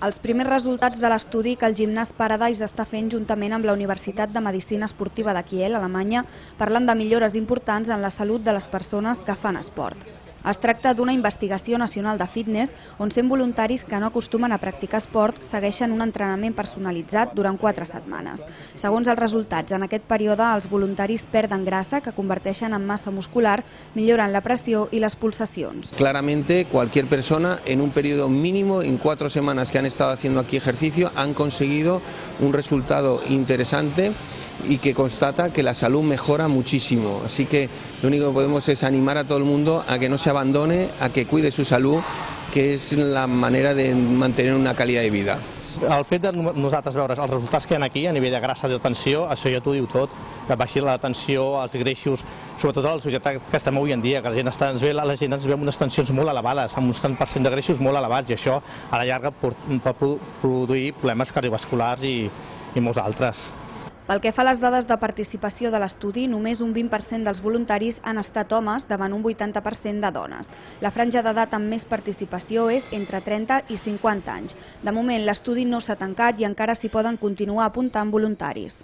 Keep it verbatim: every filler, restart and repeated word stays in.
Els primers resultats de l'estudi que el gimnàs Paradise està fent juntament amb la Universitat de Medicina Esportiva de Kiel, Alemanya, parlen de millores importants en la salut de les persones que fan esport. Es tracta d'una investigació nacional de fitness on cent voluntaris que no acostumen a practicar esport segueixen un entrenament personalitzat durant quatre setmanes. Segons els resultats, en aquest període els voluntaris perden grasa que converteixen en massa muscular, milloren la pressió i les pulsacions. Claramente cualquier persona en un periodo mínimo, en cuatro semanas que han estado haciendo aquí ejercicio, han conseguido un resultado interesante y que constata que la salud mejora muchísimo. Así que lo único que podemos es animar a todo el mundo a que no se abandone, a que cuide su salud, que és la manera de mantenir una calidad de vida. El fet de nosaltres veure els resultats que hi ha aquí a nivell de grassa i de tensió, això ja t'ho diu tot, que baixi la tensió, els greixos, sobretot a la societat que estem avui en dia, que la gent, està, ens ve, la gent ens ve amb unes tensions molt elevades, amb un tant per cent de greixos molt elevats, i això a la llarga pot produir problemes cardiovasculars i, i molts altres. Pel que fa a les dades de participació de l'estudi, només un vint per cent dels voluntaris han estat homes davant un vuitanta per cent de dones. La franja d'edat amb més participació és entre trenta i cinquanta anys. De moment, l'estudi no s'ha tancat i encara s'hi poden continuar apuntant voluntaris.